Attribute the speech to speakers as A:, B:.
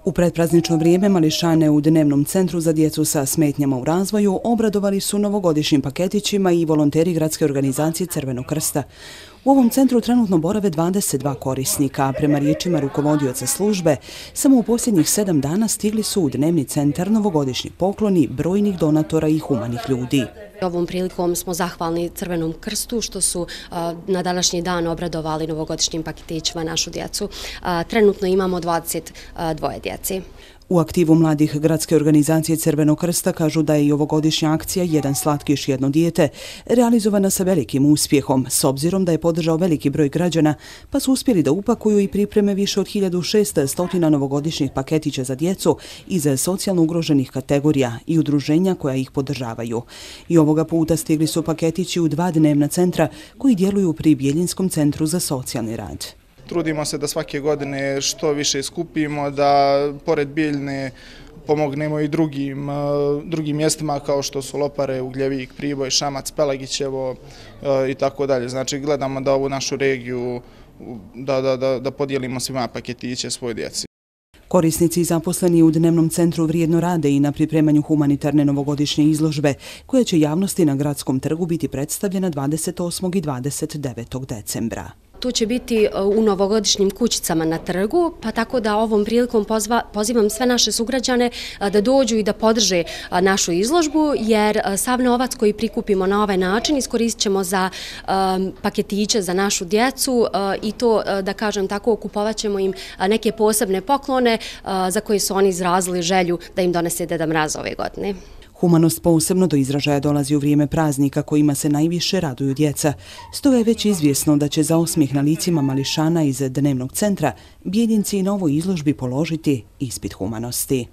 A: U predpraznično vrijeme mališane u Dnevnom centru za djecu sa smetnjama u razvoju obradovali su novogodišnjim paketićima i volonteri gradske organizacije Crvenog krsta. U ovom centru trenutno borave 22 korisnika, a prema riječima rukovodioca službe, samo u posljednjih 7 dana stigli su u Dnevni centar novogodišnji pokloni brojnih donatora i humanih ljudi.
B: Ovom prilikom smo zahvalni Crvenom krstu što su na današnji dan obradovali novogodišnjim paketićima našu djecu. Trenutno imamo 22 djeci.
A: U aktivu mladih gradske organizacije Crvenog krsta kažu da je i ovogodišnja akcija Jedan slatkiš, jedno dijete realizovana sa velikim uspjehom, s obzirom da je podržao veliki broj građana, pa su uspjeli da upakuju i pripreme više od 1600 novogodišnjih paketića za djecu iz socijalno ugroženih kategorija i udruženja koja ih podržavaju. I ovoga puta stigli su paketići u 2 dnevna centra koji djeluju pri Bjeljinskom centru za socijalni rad.
C: Trudimo se da svake godine što više skupimo, da pored Bijeljne pomognemo i drugim mjestima kao što su Lopare, Ugljevik, Priboj, Šamac, Pelagićevo i tako dalje. Znači gledamo da ovu našu regiju da podijelimo svima paketiće svoj djeci.
A: Korisnici zaposleni u Dnevnom centru vrijedno rade i na pripremanju humanitarne novogodišnje izložbe, koja će javnosti na Gradskom trgu biti predstavljena 28. i 29. decembra.
B: Tu će biti u novogodišnjim kućicama na trgu, pa tako da ovom prilikom pozivam sve naše sugrađane da dođu i da podrže našu izložbu, jer sav novac koji prikupimo na ovaj način iskoristit ćemo za paketiće za našu djecu i to, da kažem tako, kupovat ćemo im neke posebne poklone za koje su oni izrazili želju da im donese Deda Mraz ove godine.
A: Humanost posebno do izražaja dolazi u vrijeme praznika kojima se najviše raduju djeca. Stoga je već izvjesno da će za osmijeh na licima mališana iz Dnevnog centra Bjeljinci na ovoj izložbi položiti ispit humanosti.